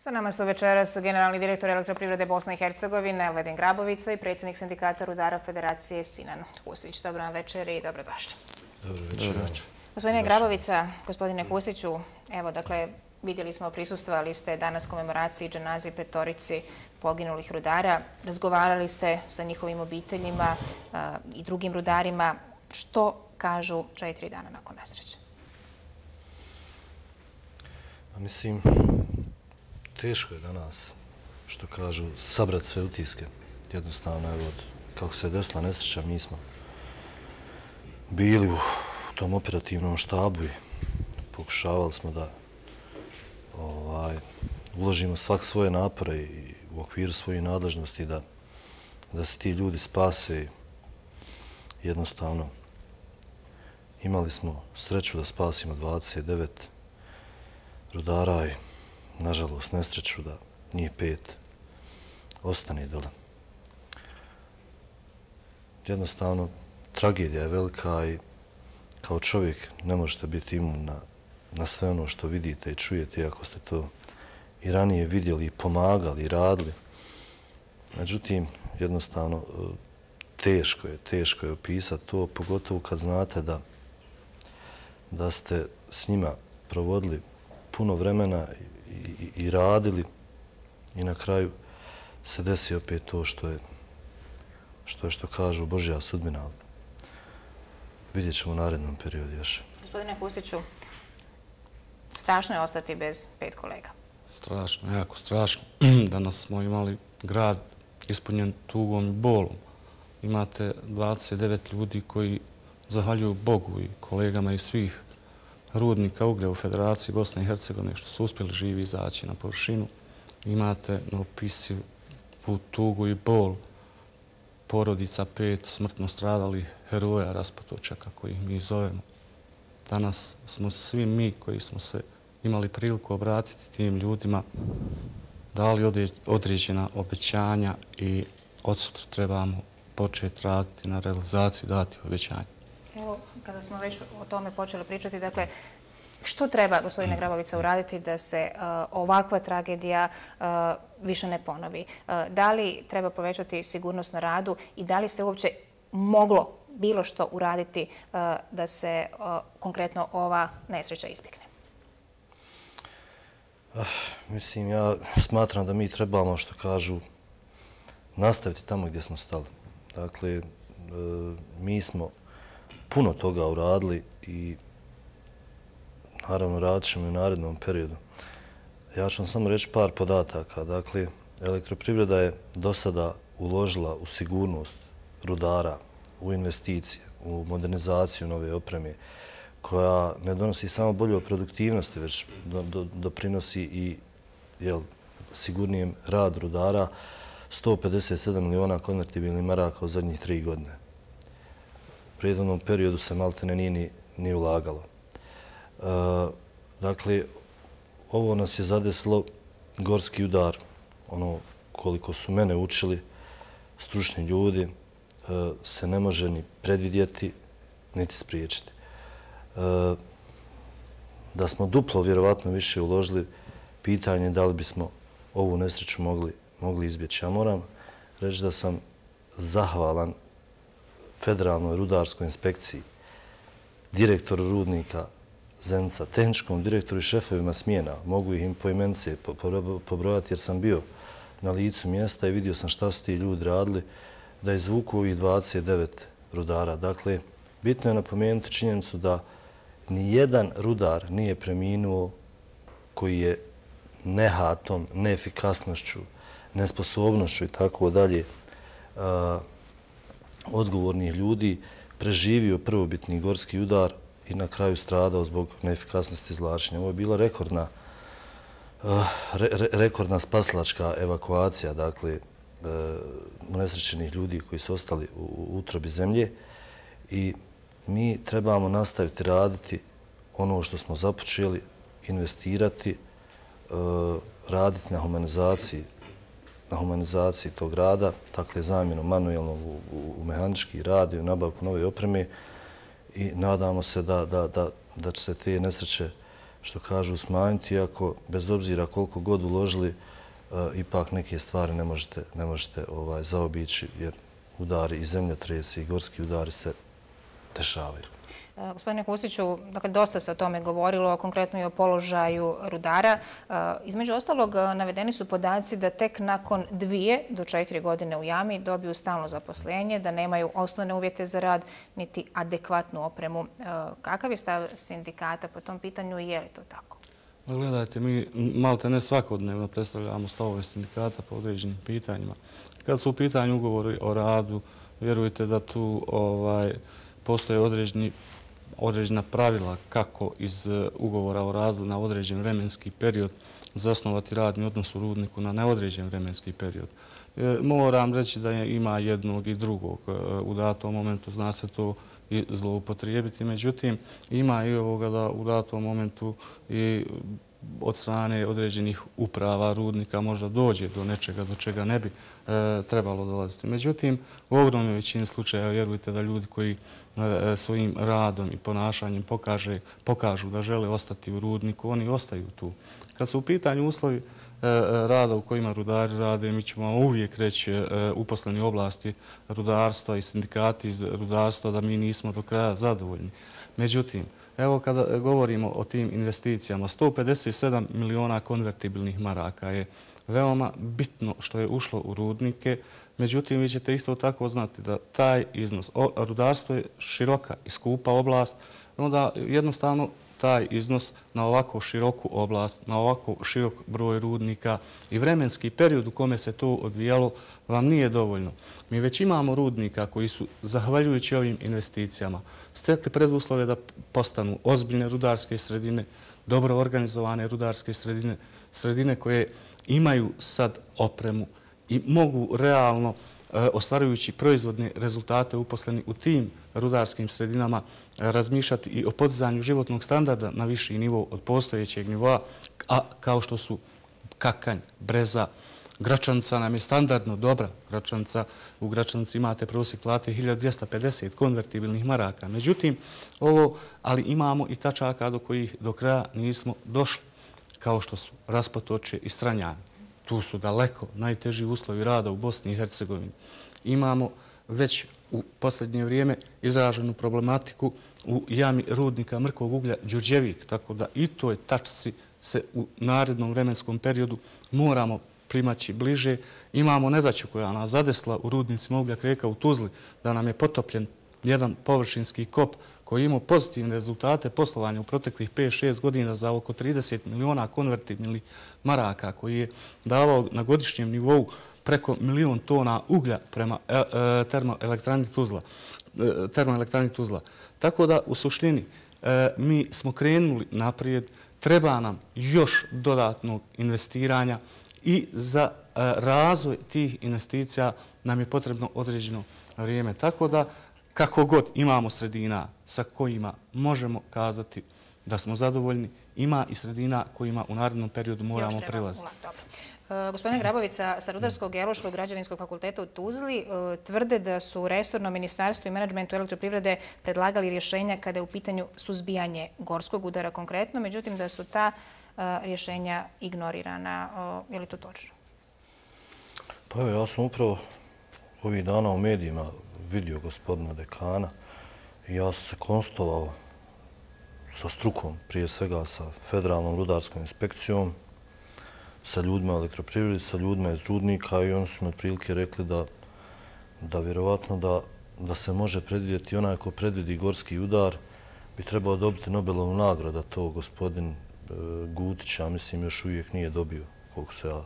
Sa nama su večeras generalni direktor Elektroprivrede Bosne i Hercegovine Elvedin Grabovica i predsjednik sindikata rudara Federacije Sinan Husić. Dobro vam večer i dobrodošli. Dobro večer. Gospodine Grabovica, gospodine Husiću, evo dakle vidjeli smo, prisustvovali ste danas komemoraciji dženazi petorici poginulih rudara. Razgovarali ste sa njihovim obiteljima i drugim rudarima. Što kažu 4 dana nakon nesreće? Mislim, teško je danas, što kažu, sabrati sve utiske. Jednostavno, evo, kako se je desila nesreća, mi smo bili u tom operativnom štabu i pokušavali smo da uložimo svak svoje napore i u okviru svojih nadležnosti da se ti ljudi spase. Jednostavno, imali smo sreću da spasimo 29 rudara i, nažalost, nesreću da njih 5 ostane dole. Jednostavno, tragedija je velika i kao čovjek ne možete biti imun na sve ono što vidite i čujete, iako ste to i ranije vidjeli, i pomagali, i radili. Međutim, jednostavno, teško je opisati to, pogotovo kad znate da ste s njima provodili puno vremena i radili i na kraju se desi opet to što kažu Božja sudbina. Vidjet ćemo u narednom periodu još. Gospodine Husiću, strašno je ostati bez 5 kolega. Strašno, jako strašno. Danas smo imali grad ispunjen tugom i bolom. Imate 29 ljudi koji zahvaljuju Bogu i kolegama iz svih rudnika uglja u Federaciji Bosne i Hercegovine što su uspjeli živi izaći na površinu. Imate neopisivu tugu i bol porodica 5 smrtno stradalih heroja Rasputoča, kako ih mi zovemo. Danas smo svi mi koji smo se imali priliku obratiti tim ljudima dali određena obećanja i od sutra trebamo početi raditi na realizaciji dati obećanja. Evo, kada smo već o tome počeli pričati, dakle, što treba, gospodine Grabovica, uraditi da se ovakva tragedija više ne ponovi? Da li treba povećati sigurnost na radu i da li se uopće moglo bilo što uraditi da se konkretno ova nesreća izbjegne? Mislim, ja smatram da mi trebamo, što kažu, nastaviti tamo gdje smo stali. Dakle, mi smo puno toga uradili i naravno radit ćemo i u narednom periodu. Ja ću vam samo reći par podataka. Dakle, Elektroprivreda je do sada uložila u sigurnost rudara, u investicije, u modernizaciju nove opreme, koja ne donosi samo bolju produktivnosti, već doprinosi i sigurnijem rad rudara, 157 miliona konvertibilnih maraka u zadnjih 3 godine. U prijednom periodu se maltene nije ni ulagalo. Dakle, ovo nas je zadesilo gorski udar. Ono koliko su mene učili stručni ljudi se ne može ni predvidjeti, niti spriječiti. Da smo duplo vjerovatno više uložili, pitanje da li bismo ovu nesreću mogli izbjeći. Ja moram reći da sam zahvalan Federalnoj rudarskoj inspekciji, direktoru rudnika Zenica, tehničkom direktoru i šefovima smjena. Mogu ih im poimence pobrojati jer sam bio na licu mjesta i vidio sam šta su ti ljudi radili da izvuku ovih 29 rudara. Dakle, bitno je napomenuti činjenicu da nijedan rudar nije preminuo koji je nehatom, neefikasnošću, nesposobnošću i tako dalje odgovornih ljudi preživio prvobitni gorski udar i na kraju stradao zbog neefikasnosti izvlačenja. Ovo je bila rekordna spasilačka evakuacija, dakle, unesrećenih ljudi koji su ostali u utrobi zemlje i mi trebamo nastaviti raditi ono što smo započeli, investirati, raditi na humanizaciji tog rada, dakle zamjenom manuelnog u mehanički rad i u nabavku nove opreme i nadamo se da će se te nesreće što kažu, smanjiti, iako bez obzira koliko god uložili, ipak neke stvari ne možete zaobići, jer udari i zemljotresi i gorski udari se dešavaju. Gospodine Husiću, dakle, dosta se o tome govorilo, konkretno i o položaju rudara. Između ostalog, navedeni su podaci da tek nakon 2 do 4 godine u jami dobiju stalno zaposlenje, da nemaju osnovne uvjete za rad, niti adekvatnu opremu. Kakav je stav sindikata po tom pitanju i je li to tako? Gledajte, mi malte ne svakodnevno predstavljamo stavove sindikata po određenim pitanjima. Kad su u pitanju ugovori o radu, vjerujte da tu postoje određena pravila kako iz ugovora o radu na određen vremenski period zasnovati radni odnos u rudniku na neodređen vremenski period. Moram reći da ima jednog i drugog. U datom momentu zna se to i zloupotrijebiti. Međutim, ima i ovoga da u datom momentu i od strane određenih uprava rudnika možda dođe do nečega do čega ne bi trebalo dolaziti. Međutim, u ogromnoj većini slučaja vjerujte da ljudi koji svojim radom i ponašanjem pokažu da žele ostati u rudniku, oni ostaju tu. Kad su u pitanju uslovi rada u kojima rudari rade, mi ćemo uvijek reći uposleni u oblasti rudarstva i sindikati iz rudarstva da mi nismo do kraja zadovoljni. Međutim, evo kada govorimo o tim investicijama, 157 miliona konvertibilnih maraka je veoma bitno što je ušlo u rudnike. Međutim, vi ćete isto tako znati da taj iznos, rudarstvo je široka i skupa oblast, onda jednostavno taj iznos na ovako široku oblast, na ovako širok broj rudnika i vremenski period u kome se to odvijalo vam nije dovoljno. Mi već imamo rudnika koji su, zahvaljujući ovim investicijama, stekli preduslove da postanu ozbiljne rudarske sredine, dobro organizovane rudarske sredine, sredine koje imaju sad opremu i mogu realno, ostvarujući proizvodne rezultate uposleni u tim rudarskim sredinama, razmišljati i o podizanju životnog standarda na viši nivo od postojećeg nivoa, a kao što su Kakanj, Breza, Gračanica nam je standardno dobra. U Gračanici imate prosjek plate 1250 konvertibilnih maraka. Međutim, ali imamo i tačaka do kojih do kraja nismo došli, kao što su Raspotočje i Stranjani. Tu su daleko najteži uslovi rada u Bosni i Hercegovini. Imamo već u posljednje vrijeme izraženu problematiku u jami rudnika mrkog uglja Đurđevik, tako da i toj tačci se u narednom vremenskom periodu moramo primaći bliže. Imamo nedaću koja nas zadesla u rudnicima Ugljak Rijeka u Tuzli, da nam je potopljen jedan površinski kop koji je imao pozitivne rezultate poslovanja u proteklih 5-6 godina za oko 30 miliona konvertibilnih maraka, koji je davao na godišnjem nivou preko 1 milion tona uglja prema termoelektrani Tuzla. Tako da, u suštini, mi smo krenuli naprijed, treba nam još dodatnog investiranja i za razvoj tih investicija nam je potrebno određeno vrijeme. Tako da, kako god imamo sredina sa kojima možemo kazati da smo zadovoljni, ima i sredina kojima u narednom periodu moramo prilaziti. Gospodine Grabovica, sa Rudarsko-geološkog građevinskog fakulteta u Tuzli tvrde da su resorno ministarstvo i menadžment u elektroprivrede predlagali rješenja kada je u pitanju suzbijanje gorskog udara konkretno, međutim da su ta rješenja ignorirana. Je li to točno? Pa evo, ja sam upravo ovih dana u medijima vidio gospodina dekana i ja sam se konsultovao sa strukom, prije svega sa Federalnom rudarskom inspekcijom, sa ljudima elektroprivrede, sa ljudima iz rudnika i oni su mi otprilike rekli da vjerovatno da se može predvidjeti onaj ko predvidi gorski udar bi trebao dobiti Nobelovu nagradu, a to gospodin Gutić, ja mislim, još uvijek nije dobio, koliko se ja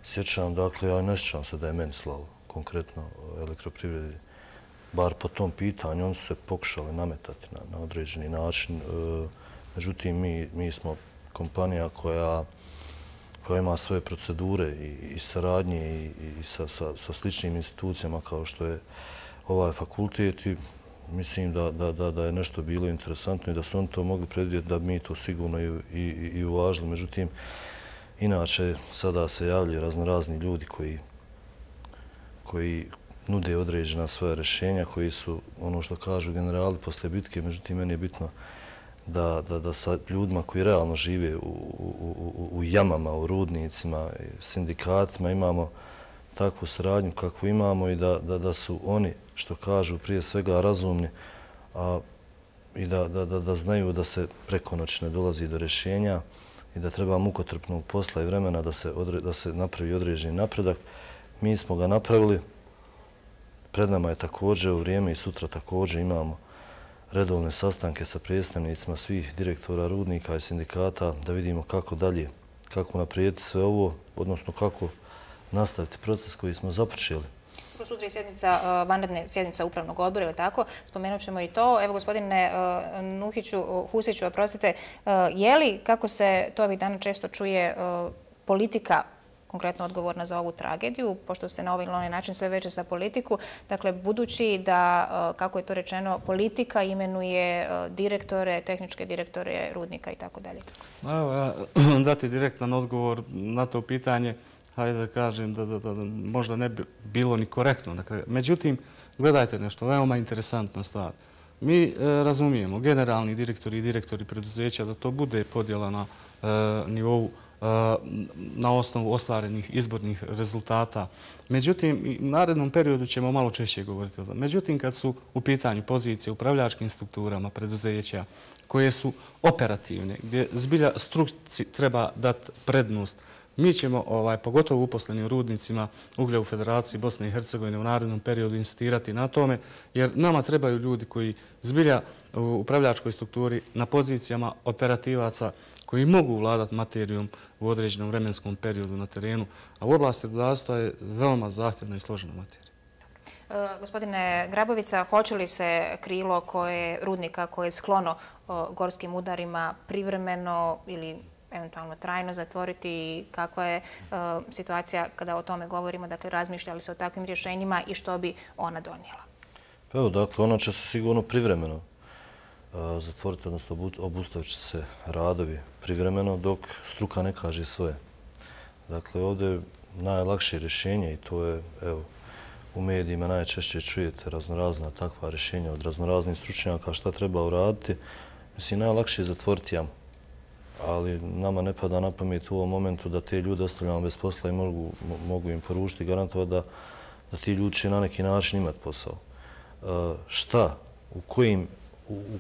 sjećam. Dakle, ja ne sjećam se da je meni slavo, konkretno elektroprivredi, bar po tom pitanju. Oni su se pokušali nametati na određeni način. Međutim, mi smo kompanija koja ima svoje procedure i saradnje i sa sličnim institucijama kao što je ovaj fakultet i mislim da je nešto bilo interesantno i da su oni to mogli predvidjeti da mi to sigurno i uvažili. Međutim, inače sada se javljaju razni ljudi koji nude određena svoja rješenja, koji su, ono što kažu generali poslije bitke. Međutim, meni je bitno da sa ljudima koji realno žive u jamama, u rudnicima, sindikatima imamo takvu saradnju kakvu imamo i da su oni, što kažu, prije svega razumni i da znaju da se preko noći ne dolazi do rješenja i da treba mukotrpnog posla i vremena da se napravi određeni napredak. Mi smo ga napravili. Pred nama je također u vrijeme i sutra također imamo redovne sastanke sa predstavnicima svih direktora rudnika i sindikata da vidimo kako dalje, kako naprijediti sve ovo, odnosno kako nastaviti proces koji smo započeli. Sutra je sjednica, vanredna sjednica upravnog odbora, ili tako? Spomenut ćemo i to. Evo, gospodine Husiću, oprostite, je li, kako se to ovih dana često čuje, politika konkretno odgovorna za ovu tragediju, pošto se na ovaj ili onaj način sve veže za politiku. Dakle, budući da, kako je to rečeno, politika imenuje direktore, tehničke direktore rudnika i tako dalje. Evo, ja dati direktan odgovor na to pitanje, hajde da kažem da možda ne bi bilo ni korektno. Međutim, gledajte nešto, veoma interesantna stvar. Mi razumijemo, generalni direktori i direktori preduzeća, da to bude podjela na nivou na osnovu ostvarenih izbornih rezultata. Međutim, u narednom periodu ćemo malo češće govoriti o tome. Međutim, kad su u pitanju pozicije u upravljačkim strukturama preduzeća koje su operativne, gdje zbilja struci treba dati prednost, mi ćemo, pogotovo uposleni u rudnicima uglja u Federaciji Bosne i Hercegovine u narednom periodu insistirati na tome, jer nama trebaju ljudi koji zbilja u upravljačkoj strukturi na pozicijama operativaca koji mogu vladati materijom u određenom vremenskom periodu na terenu, a u oblasti rudarstva je veoma zahtjevna i složena materija. Gospodine Grabovica, hoće li se krilo rudnika koje je sklono gorskim udarima privremeno ili eventualno trajno zatvoriti i kakva je situacija kada o tome govorimo, dakle razmišljali se o takvim rješenjima i što bi ona donijela? Evo, dakle, ona će se sigurno privremeno zatvoriti, odnosno obustavit će se radovi privremeno dok struka ne kaže svoje. Dakle, ovdje je najlakše rješenje i to je, evo, u medijima najčešće čujete raznorazna takva rješenja od raznoraznih stručnjaka šta treba uraditi. Mislim, najlakše je zatvoriti jamu, ali nama ne pada na pamet u ovom momentu da te ljude ostavljamo bez posla i mogu im poručiti i garantovati da ti ljudi će na neki način imati posao. Šta,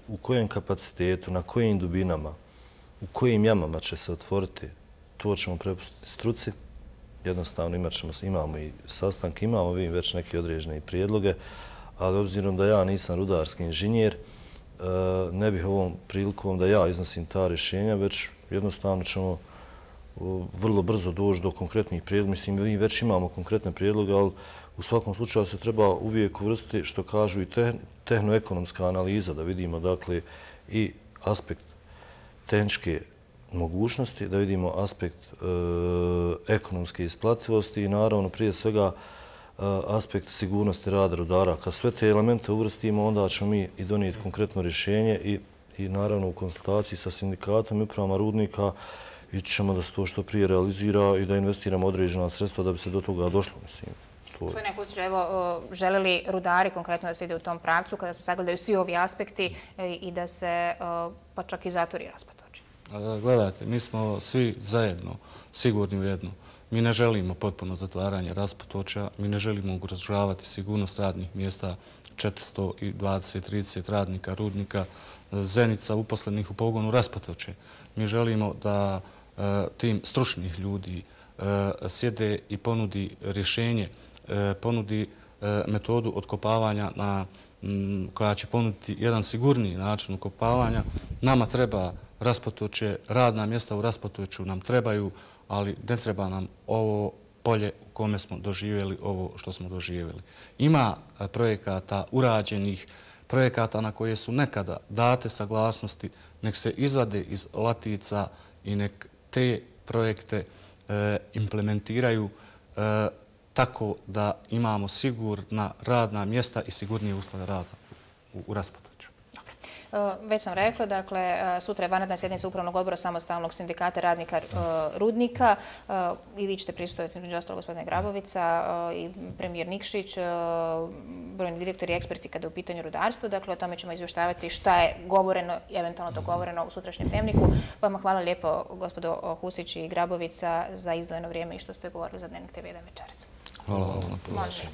u kojem kapacitetu, na kojim dubinama, u kojim jamama će se otvoriti, to ćemo prepustiti struci. Jednostavno imamo i sastanke, imamo već neke određene prijedloge, ali obzirom da ja nisam rudarski inženjer, ne bih ovom prilikom da ja iznosim ta rješenja, već jednostavno ćemo vrlo brzo doći do konkretnih prijedloga. Mislim, mi već imamo konkretne prijedloge, ali u svakom slučaju se treba uvijek uvrstiti, što kažu, i tehnoekonomska analiza, da vidimo dakle i aspekt tehničke mogućnosti, da vidimo aspekt ekonomske isplativosti i naravno prije svega aspekt sigurnosti rada rudara. Kad sve te elemente uvrstimo, onda ćemo mi i donijeti konkretno rješenje i naravno u konsultaciji sa sindikatom i upravama rudnika ćemo da se to što prije realizira i da investiramo određena sredstva da bi se do toga došlo. Gospodine Husiću, evo, žele li rudari konkretno da se ide u tom pravcu kada se sagledaju svi ovi aspekti i da se pa čak i zatvori Raspatočje? Gledajte, mi smo svi zajedno sigurni u jedno. Mi ne želimo potpuno zatvaranje Raspatočja, mi ne želimo ugrožavati sigurnost radnih mjesta 420-30 radnika rudnika Zenica uposlenih u pogonu Raspatočje. Mi želimo da tim stručnih ljudi sjede i ponudi rješenje, ponudi metodu otkopavanja koja će ponuditi jedan sigurniji način ukopavanja. Nama treba Raspatočje, radna mjesta u Raspatočju nam trebaju, ali ne treba nam ovo polje u kome smo doživjeli ovo što smo doživjeli. Ima projekata urađenih, projekata na koje su nekada date saglasnosti, nek se izvade iz latica i nek te projekte implementiraju tako da imamo sigurna radna mjesta i sigurnije uslove rada u Raspatočju. Već sam rekla, dakle, sutra je vanredna sjednica Upravnog odbora Samostalnog sindikata radnika Rudnika i vi ćete prisustvovati među ostalo gospodine Grabovica i premijer Nikšić, brojni direktori i eksperti kada je u pitanju rudarstva. Dakle, o tome ćemo izvještavati šta je govoreno i eventualno dogovoreno u sutrašnjem dnevniku. Vama hvala lijepo, gospodo Husić i Grabovica, za izdvojeno vrijeme i što ste govorili za Dnevnik TV1 večeras. Hvala vam na pozivu.